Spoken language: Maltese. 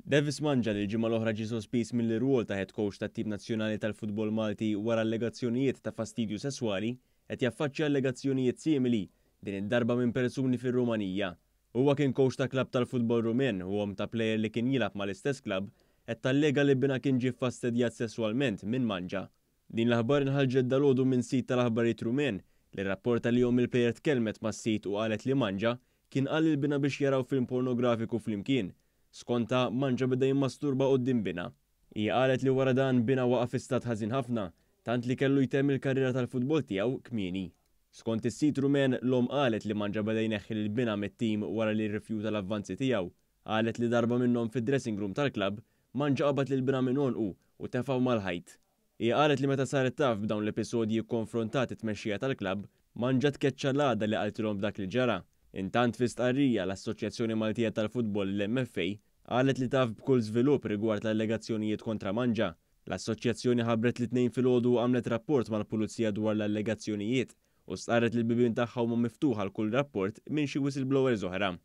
Devis Mangia, li l-ġimgħa l-oħra ġie sospiż mill-irwol ta' head coach tat-tim nazzjonali tal-futbol Malti wara allegazzjonijiet ta' fastidju sesswali, qed jaffaċċja allegazzjonijiet simili, din id-darba minn persuni fir-Rumanija. Huwa kien coach ta' klabb tal-futbol Rumen u omm ta' plejer li kien jilgħab mal-istess klabb qed tallega li binha kien ġie ffastidjat sesswalment minn Mangia. Din l-aħbar inħarġet dalgħodu minn sit tal-aħbarijiet Rumen li rrapporta li omm il-plejer tkellmet mas-sit u qalet li Mangia kien qal lil binha biex jaraw film pornografiku flimkien. Skontha, Mangia beda jimmasturba quddiem binha. Hija qalet li wara dan binha waqa' fi stat ħażin ħafna, tant li kellu jtemm il-karriera tal-futbol tiegħu kmieni. Skont is-sit Rumen, l-omm qalet li Mangia beda jneħħi lil binha mit-tim wara li rrifjuta l-avvanzi tiegħu. Qalet li darba minnhom fid-dressing room tal-klabb, Mangia qabad lil binha minn għonqu u tefgħu mal-ħajt. Hija qalet li meta saret taf b'dawn l-episodji kkonfrontat it-tmexxija tal-klabb, Mangia tkeċċa l-għada li qaltilhom b'dak li ġara. Intant fi stqarrija, l-Assoċjazzjoni Maltija tal-Futbol, l-MFA, qalet li taf b'kull żvilupp rigward l-allegazzjonijiet kontra Mangia. L-assoċjazzjoni ħabbret li t-Tnejn filgħodu għamlet rapport mal-Pulizija dwar l-allegazzjonijiet u stqarret li l-bibien tagħha huma miftuħa għal kull rapport minn xi whistleblowers oħra.